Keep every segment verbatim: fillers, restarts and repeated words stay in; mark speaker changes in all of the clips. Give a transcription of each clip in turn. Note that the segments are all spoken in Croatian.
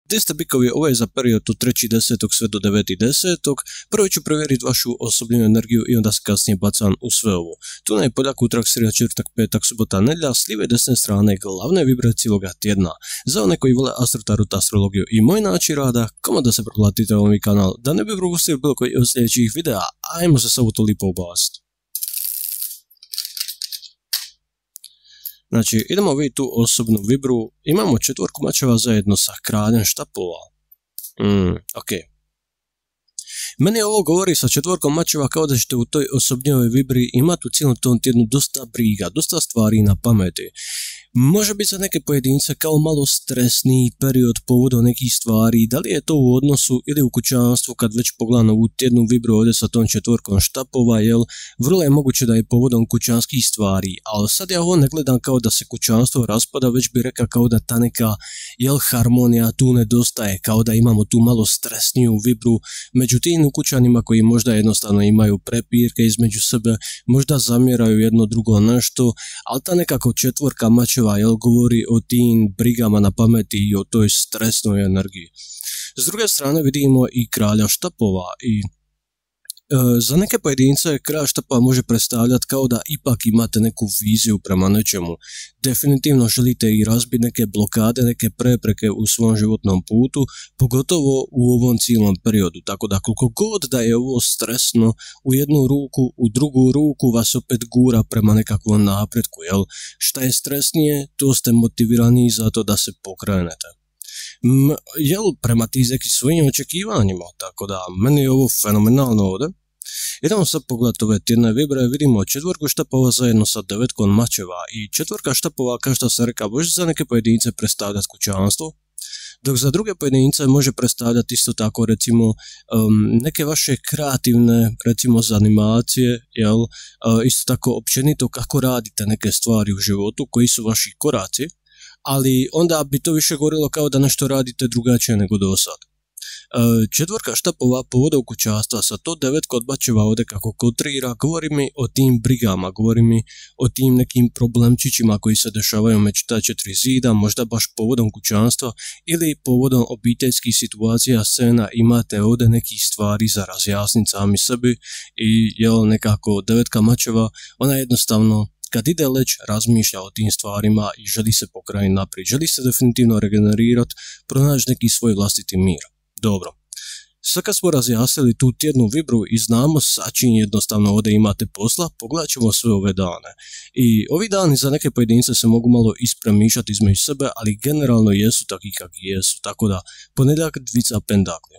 Speaker 1: Gdje ste bikovi, ovo je za period od trećeg desetog sve do devetog desetog. Prvo ću provjeriti vašu osobnu energiju i onda se kasnije bacam u sve ovo. Tu nam je poljak, utorak, srijeda, četvrtak, petak, subota, nedjelja, s lijeve desne strane glavne vibracije cijeloga tjedna. Za one koji vole astrotarot, astrologiju i moj način rada, kamo da se pretplatite ovaj kanal, da ne bi propustili bilo koji od sljedećih videa, ajmo se samo to lipo ubaciti. Znači, idemo vidjeti tu osobnu vibru, imamo četvorku mačeva zajedno sa kraljem štapova. Mm, ok. Meni ovo govori sa četvorkom mačeva kao da ćete u toj osobnjoj vibri imati u cijelom tom tjednu dosta briga, dosta stvari na pameti. Može biti za neke pojedince kao malo stresniji period povodom nekih stvari, da li je to u odnosu ili u kućanstvu kad već pogledam ovu tjednu vibru ovdje sa tom četvorkom štapova, jel, vrlo je moguće da je povodom kućanskih stvari, ali sad ja ovo ne gledam kao da se kućanstvo raspada, već bi rekao kao da ta neka, jel, harmonija tu nedostaje, kao da imamo tu malo stresniju vibru među tim kućanima koji možda jednostavno imaju prepirke između sebe, možda zamjeraju jedno drugo nešto, ali ta nekako četvorka mačeva, jel, govori o tim brigama na pameti i o toj stresnoj energiji. S druge strane vidimo i kralja štapova i e, za neke pojedince kralj štapova može predstavljati kao da ipak imate neku viziju prema nečemu. Definitivno želite i razbiti neke blokade, neke prepreke u svom životnom putu, pogotovo u ovom cijelom periodu. Tako da koliko god da je ovo stresno, u jednu ruku, u drugu ruku vas opet gura prema nekakvom napretku. Jel? Šta je stresnije, to ste motivirani za to da se pokrenete. M, jel, prema ti nekim svojim očekivanjima, tako da meni je ovo fenomenalno ovdje. Idemo sad pogledati ove tjedne vibre, vidimo četvorku štapova zajedno sa devetkom mačeva i četvorka štapova, kao što sam rekao, može za neke pojedince predstavljati kućanstvo, dok za druge pojedince može predstavljati isto tako recimo um, neke vaše kreativne recimo zanimacije, jel, uh, isto tako općenito kako radite neke stvari u životu, koji su vaši koraci, ali onda bi to više govorilo kao da nešto radite drugačije nego do sad. Četvorka štapova povodom kućanstva sa to devetka od mačeva ovdje kako kontrira, govori mi o tim brigama, govori mi o tim nekim problemčićima koji se dešavaju među ta četiri zida, možda baš povodom kućanstva ili povodom obiteljskih situacija, scena, imate ovdje nekih stvari za razjasniti sami sebi i jel, nekako devetka mačeva, ona jednostavno kad ide leć, razmišlja o tim stvarima i želi se pokrenuti naprijed, želi se definitivno regenerirati, pronaći neki svoj vlastiti mir. Dobro, sad kad smo razjasnili tu tjednu vibru i znamo sa čim jednostavno ovdje imate posla, pogledat ćemo sve ove dane. I ovi dani za neke pojedince se mogu malo ispremišljati između sebe, ali generalno jesu takvi kakvi jesu, tako da ponedjeljak dvica pendakli.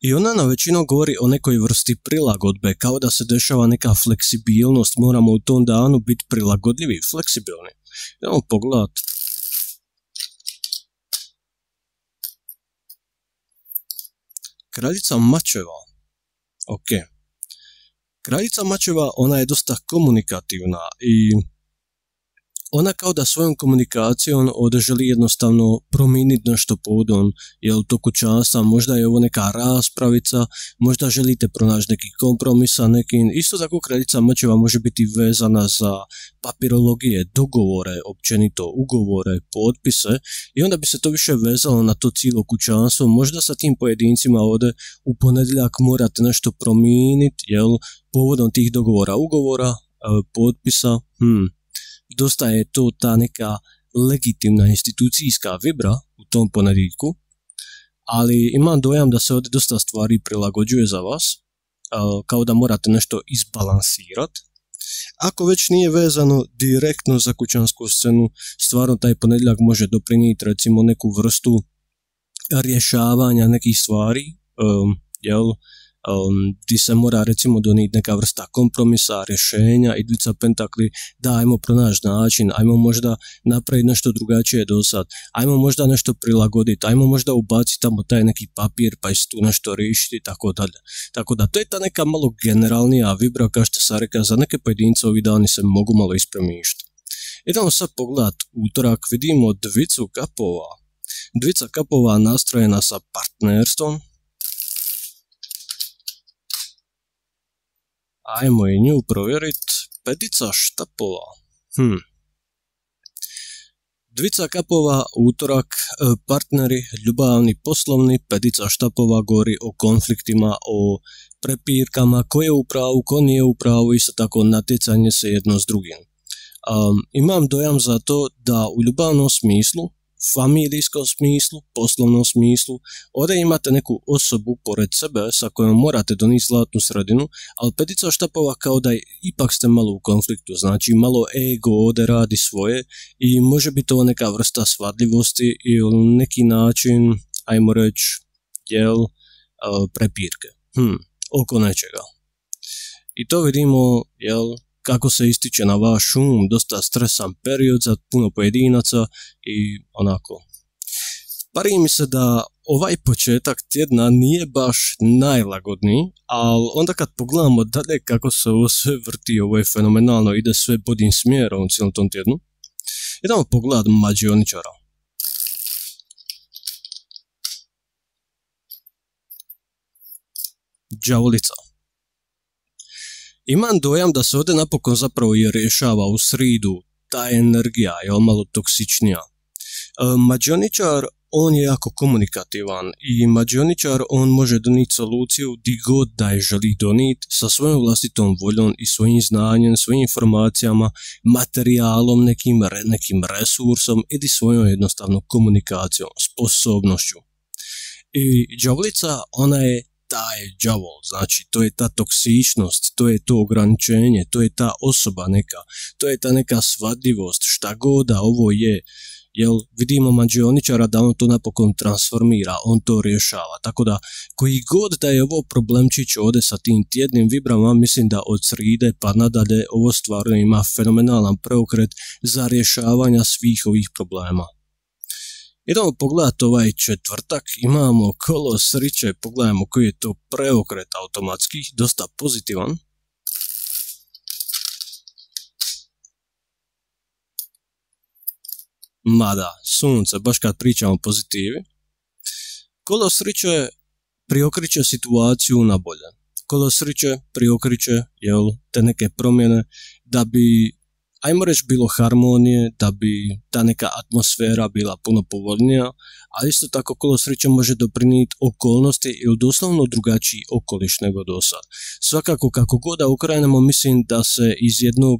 Speaker 1: I ona na većinu govori o nekoj vrsti prilagodbe, kao da se dešava neka fleksibilnost, moramo u tom danu biti prilagodljivi i fleksibilni. Idemo pogledat. Kraljica mačeva. Ok. Kraljica mačeva, ona je dosta komunikativna i ona kao da svojom komunikacijom ovdje želi jednostavno promijeniti nešto povodom, jel, to kućanstva, možda je ovo neka raspravica, možda želite pronaći neki kompromis sa nekim. Isto tako kraljica mačeva može biti vezana za papirologije, dogovore, općenito ugovore, potpise i onda bi se to više vezalo na to cijelo kućanstvo. Možda sa tim pojedincima ovdje u ponedjeljak morate nešto promijeniti, jel, povodom tih dogovora, ugovora, potpisa, hmm. Dosta je to ta neka legitimna institucijska vibra u tom ponedjeljku, ali imam dojam da se ovdje dosta stvari prilagođuje za vas, kao da morate nešto izbalansirati. Ako već nije vezano direktno za kućansku scenu, stvarno taj ponedjeljak može doprinijeti recimo neku vrstu rješavanja nekih stvari, um, jel, Um, gdje se mora recimo donijeti neka vrsta kompromisa, rješenja i dvica pentakli, da ajmo pronaći način, ajmo možda napraviti nešto drugačije do sad, ajmo možda nešto prilagoditi, ajmo možda ubaciti tamo taj neki papir pa iz tu nešto riješiti i tako dalje. Tako da to je ta neka malo generalnija vibra, kao što sam rekao, za neke pojedince ovi dani se mogu malo ispremišiti. Idemo sad pogledat utorak, vidimo dvicu kapova. Dvica kapova nastrojena sa partnerstvom. Ajmo i nju provjeriti. Petica štapova. Hm. Dvica kapova, útorak, partneri, ljubavni, poslovni, petica štapova govori o konfliktima, o prepirkama, ko je u pravu, ko nije u pravu, isto tako natjecanje se jedno s drugim. Um, imam dojam za to da u ljubavnom smislu, familijskom smislu, poslovnom smislu, ovdje imate neku osobu pored sebe sa kojom morate donijeti zlatnu sredinu, ali petica štapova kao da ipak ste malo u konfliktu, znači malo ego ovdje radi svoje i može biti ovo neka vrsta svadljivosti ili neki način, ajmo reći, jel, prepirke, hm, oko nečega. I to vidimo, jel, kako se ističe na vaš um, dosta stresan period za puno pojedinaca i onako. Pari mi se da ovaj početak tjedna nije baš najlagodniji, ali onda kad pogledamo dalje kako se ovo sve vrti, ovo je fenomenalno, ide sve boljim smjerom u cijelom tom tjednu. Idemo pogledat mađioničara. Đavolica. Imam dojam da se ovdje napokon zapravo i rješava u sridu ta energija je malo toksičnija. E, mađioničar, on je jako komunikativan i mađioničar, on može donijeti soluciju di god da je želi donijeti sa svojom vlastitom voljom i svojim znanjem, svojim informacijama, materijalom, nekim, nekim resursom ili svojom jednostavnom komunikacijom, sposobnošću. I đavolica, ona je taj đavol, znači to je ta toksičnost, to je to ograničenje, to je ta osoba neka, to je ta neka svadljivost, šta god da ovo je, jel vidimo mađioničara da on to napokon transformira, on to rješava, tako da koji god da je ovo problemčić ovdje sa tim tjednim vibrama, mislim da od sride pa nadalje ovo stvarno ima fenomenalan preokret za rješavanja svih ovih problema. Idemo pogledati ovaj četvrtak, imamo kolo sriće, pogledajmo koji je to preokret automatski, dosta pozitivan. Mada, sunce, baš kad pričamo o pozitivi. Kolo sriće priokriće situaciju na bolje. Kolo sriće priokriće, jel, te neke promjene da bi, ajmo reći, bilo harmonije, da bi ta neka atmosfera bila puno povoljnija, a isto tako kolo sreće može doprinijeti okolnosti ili doslovno drugačiji okoliš nego do sad. Svakako kako god da okrenemo, mislim da se iz jednog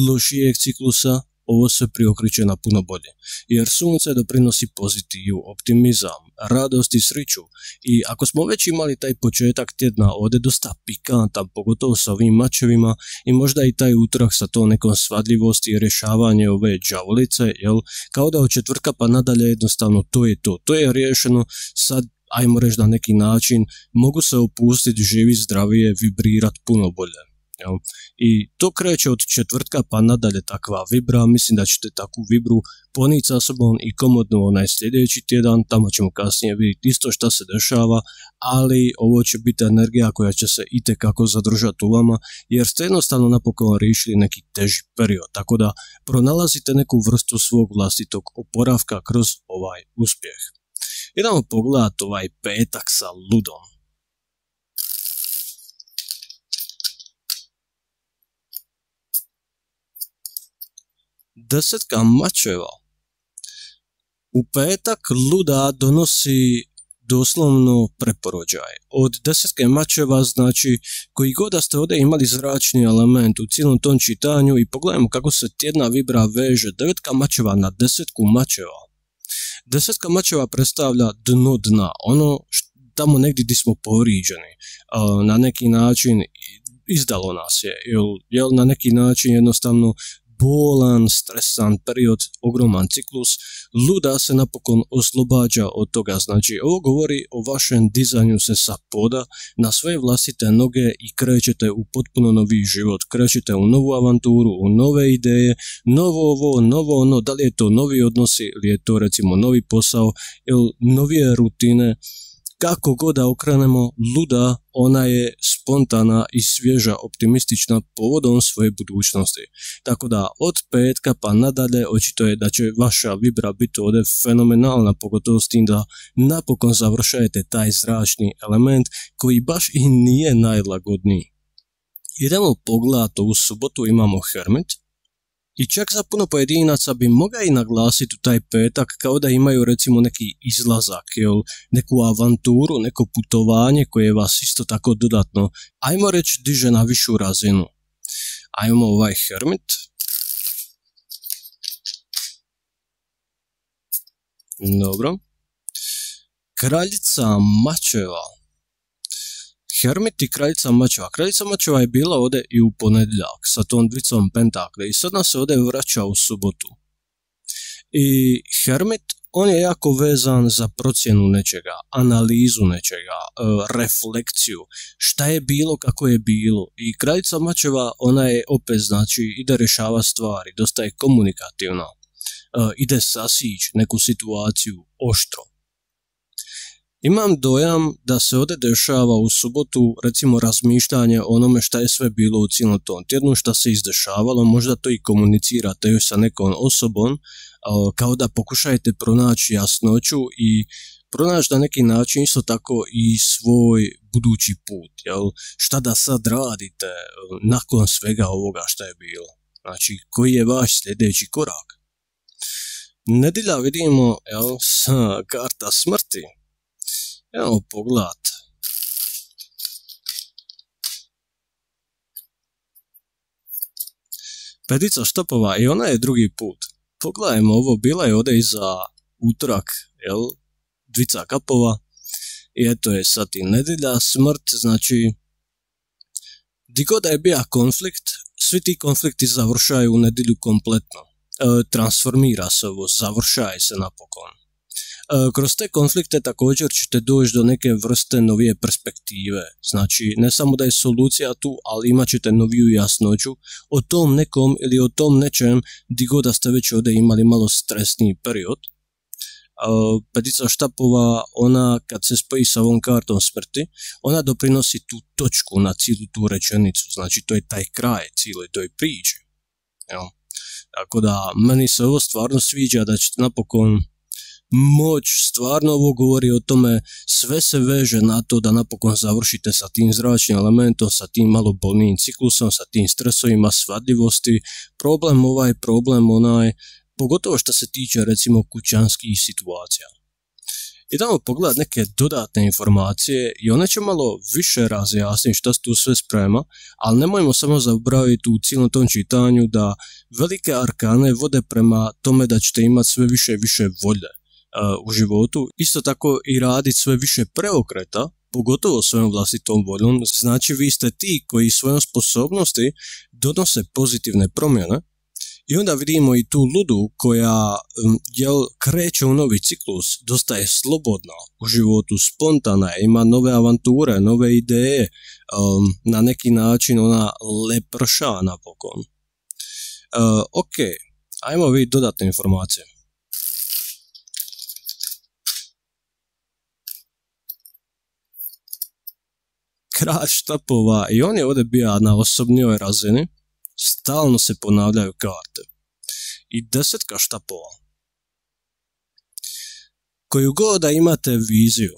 Speaker 1: lošijeg ciklusa ovo se priokriče na puno bolje, jer sunce doprinosi pozitivu, optimizam, radost i sreću i ako smo već imali taj početak tjedna ovdje dosta pikantan, pogotovo sa ovim mačevima i možda i taj utorak sa to nekom svadljivosti i rješavanje ove đavolice, jel, kao da od četvrtka pa nadalje jednostavno to je to, to je riješeno, sad ajmo reći na neki način mogu se opustiti, živi zdravije, vibrirati puno bolje. Jel? I to kreće od četvrtka pa nadalje takva vibra, mislim da ćete takvu vibru ponijeti sa sobom i komodno onaj sljedeći tjedan, tamo ćemo kasnije vidjeti isto što se dešava, ali ovo će biti energija koja će se itekako zadržati u vama, jer ste jednostavno napokon riješili neki teži period, tako da pronalazite neku vrstu svog vlastitog oporavka kroz ovaj uspjeh. Idemo pogledati ovaj petak sa ludom. Desetka mačeva. U petak luda donosi doslovno preporođaj. Od desetke mačeva, znači koji god da ste ovdje imali zračni element u cijelom tom čitanju i pogledajmo kako se tjedna vibra veže. Devetka mačeva na desetku mačeva. Desetka mačeva predstavlja dno dna, ono što, tamo negdje gdje smo povrijeđeni, na neki način izdalo nas je, jel, jel na neki način jednostavno bolan, stresan period, ogroman ciklus, luda se napokon oslobađa od toga, znači ovo govori o vašem dizanju se sa poda na svoje vlastite noge i krećete u potpuno novi život, krećete u novu avanturu, u nove ideje, novo ovo, novo ono, da li je to novi odnosi ili je to recimo novi posao ili novije rutine. Kako god da okrenemo, luda, ona je spontana i svježa, optimistična povodom svoje budućnosti. Tako da od petka pa nadalje očito je da će vaša vibra biti ovdje fenomenalna, pogotovo s tim da napokon završajete taj zračni element koji baš i nije najlagodniji. Idemo pogledati, u subotu imamo Hermit. I čak za puno pojedinaca bi mogao i naglasiti u taj petak kao da imaju recimo neki izlazak, jel, neku avanturu, neko putovanje koje vas isto tako dodatno, ajmo reći, diže na višu razinu. Ajmo ovaj Hermit. Dobro. Kraljica mačeva. Hermit i kraljica mačeva. Kraljica mačeva je bila ovdje i u ponedjeljak sa tom dvicom pentakle i sad nas se ovdje vraća u subotu. I Hermit, on je jako vezan za procjenu nečega, analizu nečega, refleksiju, šta je bilo, kako je bilo. I kraljica mačeva, ona je opet, znači, ide rješava stvari, dosta je komunikativna, ide sasići neku situaciju oštro. Imam dojam da se ovdje dešava u subotu, recimo, razmišljanje o onome šta je sve bilo u cijelom tom tjednu, šta se izdešavalo, možda to i komunicirate još sa nekom osobom, kao da pokušajte pronaći jasnoću i pronaći na neki način isto tako i svoj budući put, jel? Šta da sad radite nakon svega ovoga šta je bilo, znači koji je vaš sljedeći korak. Nedjelja vidimo, jel, karta smrti. Evo pogled. Petica štapova i ona je drugi put. Pogledajmo ovo, bila je ovdje iza utorak, jel, dvica kapova i eto je sad i nedjelja, smrt, znači di god da je bio konflikt, svi ti konflikti završaju u nedjelju kompletno. E, transformira se ovo, završaje se napokon. Kroz te konflikte također ćete doći do neke vrste novije perspektive, znači ne samo da je solucija tu, ali imat ćete noviju jasnoću o tom nekom ili o tom nečem di god da ste već ovdje imali malo stresniji period. Petica štapova, ona kad se spoji sa ovom kartom smrti, ona doprinosi tu točku na cijelu tu rečenicu, znači to je taj kraj cijeloj toj priči. Tako da meni se ovo stvarno sviđa da ćete napokon moć, stvarno ovo govori o tome, sve se veže na to da napokon završite sa tim zračnim elementom, sa tim malo bolnijim ciklusom, sa tim stresovima, svadljivosti, problem ovaj, problem onaj, pogotovo što se tiče recimo kućanskih situacija. Idemo pogledati neke dodatne informacije i one će malo više razjasniti šta se tu sve sprema, ali nemojmo samo zaboraviti u cijelom tom čitanju da velike arkane vode prema tome da ćete imati sve više i više volje u životu, isto tako i raditi sve više preokreta, pogotovo svojom vlastitom voljom, znači vi ste ti koji svojom sposobnosti donose pozitivne promjene i onda vidimo i tu ludu koja jel, kreće u novi ciklus, dosta je slobodna u životu, spontana, ima nove avanture, nove ideje, um, na neki način ona leprša napokon. Uh, ok, ajmo vidjeti dodatne informacije. Kralj štapova i on je ovdje bio na osobnijoj razini, stalno se ponavljaju karte. I desetka štapova. Koju god da imate viziju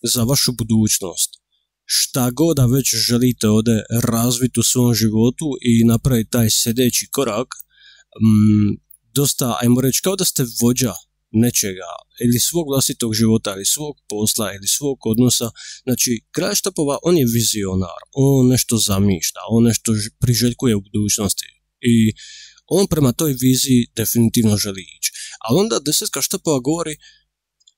Speaker 1: za vašu budućnost, šta god da već želite ovdje razviti u svom životu i napraviti taj sljedeći korak, m, dosta, ajmo reći, kao da ste vođa nečega, ili svog vlastitog života, ili svog posla, ili svog odnosa. Znači, kralj štapova, on je vizionar, on nešto zamišlja, on nešto priželjkuje u budućnosti i on prema toj viziji definitivno želi ići. Ali onda desetka štapova govori,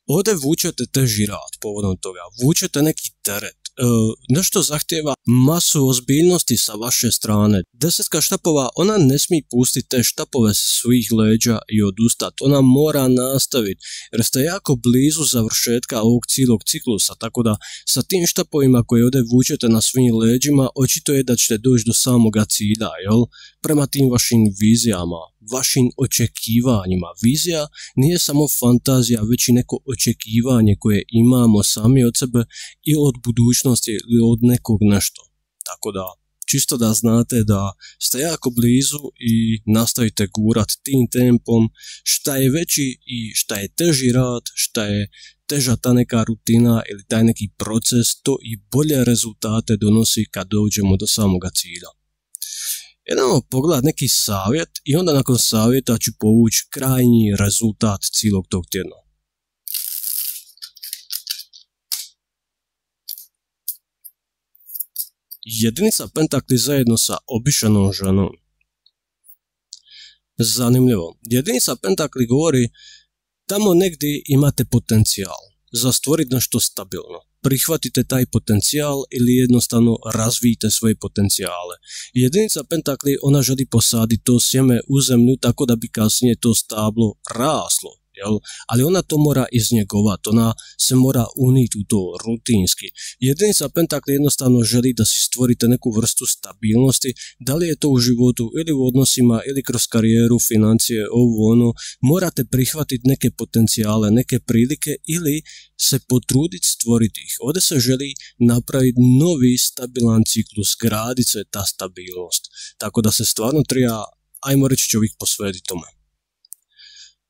Speaker 1: ovdje vučete teži rad povodom toga, vučete neki teret, e, nešto zahtjeva masu ozbiljnosti sa vaše strane. Desetka štapova, ona ne smije pustiti te štapove sa svojih leđa i odustati, ona mora nastaviti, jer ste jako blizu završetka ovog cijelog ciklusa, tako da sa tim štapovima koje ovdje vučete na svojim leđima, očito je da ćete doći do samoga cilja, jel? Prema tim vašim vizijama, vašim očekivanjima. Vizija nije samo fantazija, već i neko očekivanje koje imamo sami od sebe i od budućnosti ili od nekog nešto. Tako da, čisto da znate da ste jako blizu i nastavite gurat tim tempom, šta je veći i šta je teži rad, šta je teža ta neka rutina ili taj neki proces, to i bolje rezultate donosi kad dođemo do samoga cilja. Idemo pogledati neki savjet i onda nakon savjeta ću povući krajnji rezultat cijelog tog tjedna. Jedinica pentakli zajedno sa obišanom ženom. Zanimljivo. Jedinica pentakli govori tamo negdje imate potencijal za stvoriti nešto stabilno. Prihvatite taj potencijal ili jednostavno razvijte svoje potencijale. Jedinica pentakli, ona želi posaditi to sjeme u zemlju tako da bi kasnije to stablo raslo. Jel? Ali ona to mora iznjegovati, ona se mora uniti u to rutinski. Jedinica pentakli jednostavno želi da si stvorite neku vrstu stabilnosti, da li je to u životu ili u odnosima ili kroz karijeru, financije, ovo ono, morate prihvatiti neke potencijale, neke prilike ili se potruditi stvoriti ih. Ovdje se želi napraviti novi stabilan ciklus, graditi se ta stabilnost. Tako da se stvarno treba, ajmo reći, čovjek posvetiti tome.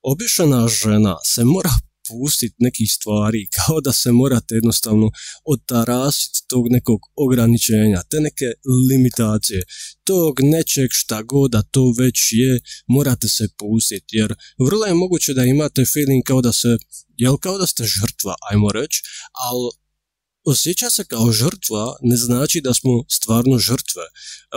Speaker 1: Obišana žena se mora pustiti nekih stvari, kao da se morate jednostavno otarasiti tog nekog ograničenja, te neke limitacije, tog nečeg šta god da to već je, morate se pustiti, jer vrlo je moguće da imate feeling kao da se, jel kao da ste žrtva, ajmo reći, ali osjeća se kao žrtva ne znači da smo stvarno žrtve.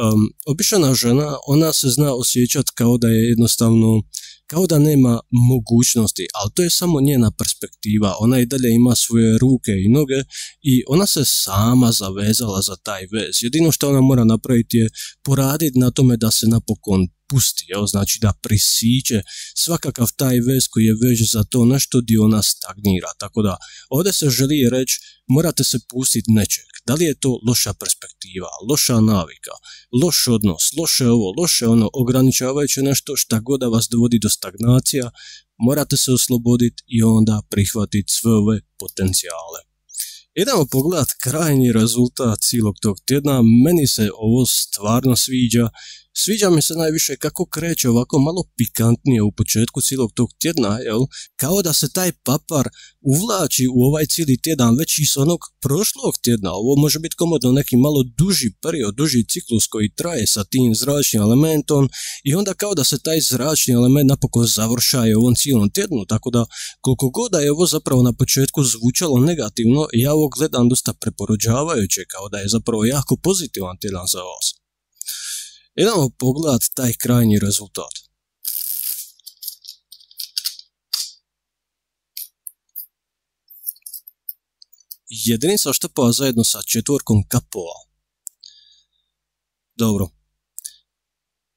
Speaker 1: Um, obična žena, ona se zna osjećati kao da je jednostavno, kao da nema mogućnosti, ali to je samo njena perspektiva. Ona i dalje ima svoje ruke i noge i ona se sama zavezala za taj vez. Jedino što ona mora napraviti je poraditi na tome da se napokon pusti, jel? Znači da prisiće svakakav taj vez koji je već za to nešto gdje ona stagnira. Tako da ovdje se želi reći, morate se pustiti nečeg. Da li je to loša perspektiva, loša navika, loš odnos, loše ovo, loše ono, ograničavajuće nešto šta god da vas dovodi do stagnacija, morate se osloboditi i onda prihvatiti sve ove potencijale. Idemo pogledati krajnji rezultat cijelog tog tjedna. Meni se ovo stvarno sviđa. Sviđa mi se najviše kako kreće ovako malo pikantnije u početku cijelog tog tjedna, jel? Kao da se taj papar uvlači u ovaj cijeli tjedan već iz onog prošlog tjedna. Ovo može biti komodno neki malo duži period, duži ciklus koji traje sa tim zračnim elementom i onda kao da se taj zračni element napokon završaje u ovom cijelom tjednu, tako da koliko god da je ovo zapravo na početku zvučalo negativno, ja ovo gledam dosta preporuđavajuće, kao da je zapravo jako pozitivan tjedan za vas. Idemo pogledati taj krajnji rezultat. Jedinica štapova zajedno sa četvorkom kapova. Dobro.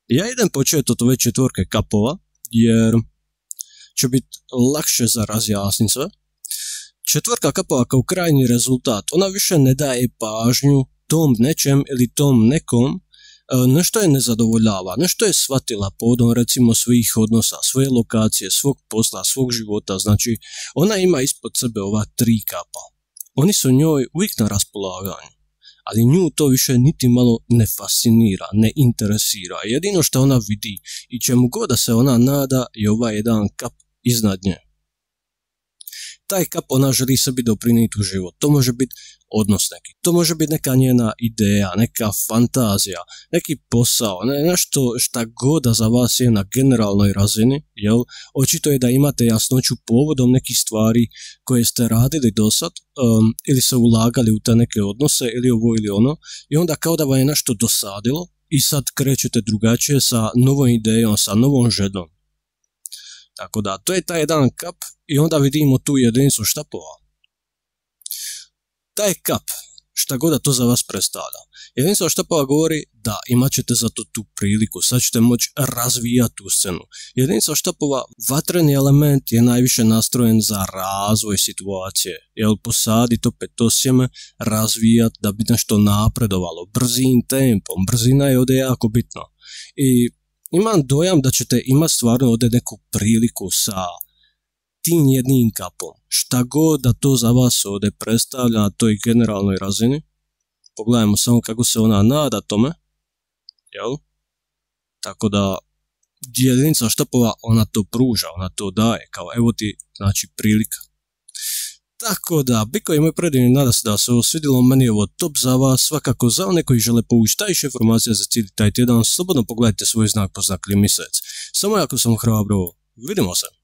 Speaker 1: Ja idem početi od ove četvorke kapova, jer će biti lakše za razjasniti sve. Četvorka kapova kao krajnji rezultat, ona više ne daje pažnju tom nečem ili tom nekom, nešto je nezadovoljava, nešto je shvatila povodom recimo svojih odnosa, svoje lokacije, svog posla, svog života, znači ona ima ispod sebe ova tri kapa. Oni su njoj uvijek na raspolaganju, ali nju to više niti malo ne fascinira, ne interesira. Jedino što ona vidi i čemu god da se ona nada je ovaj jedan kap iznad nje. Taj kap ona želi sebi doprinijeti u život. To može biti odnos neki, to može biti neka njena ideja, neka fantazija, neki posao, ne, nešto šta god da za vas je na generalnoj razini, jel? Očito je da imate jasnoću povodom nekih stvari koje ste radili do sad, um, ili se ulagali u te neke odnose, ili ovo ili ono, i onda kao da vam je nešto dosadilo i sad krećete drugačije sa novom idejom, sa novom željom. Tako da, to je taj jedan kap i onda vidimo tu jedinicu štapova. Taj kap, šta god da to za vas predstavlja. Jedinica štapova govori da imat ćete za to tu priliku, sad ćete moći razvijati tu scenu. Jedinica štapova, vatreni element je najviše nastrojen za razvoj situacije. Jel, posaditi opet to sjeme, razvijati da bi nešto napredovalo, brzim tempom, brzina je ovdje jako bitna. I imam dojam da ćete imati stvarno ovdje neku priliku sa tim jednim kapom. Šta god da to za vas ovdje predstavlja na toj generalnoj razini. Pogledajmo samo kako se ona nada tome. Jel? Tako da jedinica štapova ona to pruža, ona to daje. Kao evo ti znači prilika. Tako da, Biko i moj predivni, nada se da se ovo svidjelo, meni je ovo top za vas, svakako za one koji žele povući tajše informacije za cijeli taj tjedan, slobodno pogledajte svoj znak po znak ili mjesec. Samo jako sam hrabro, vidimo se.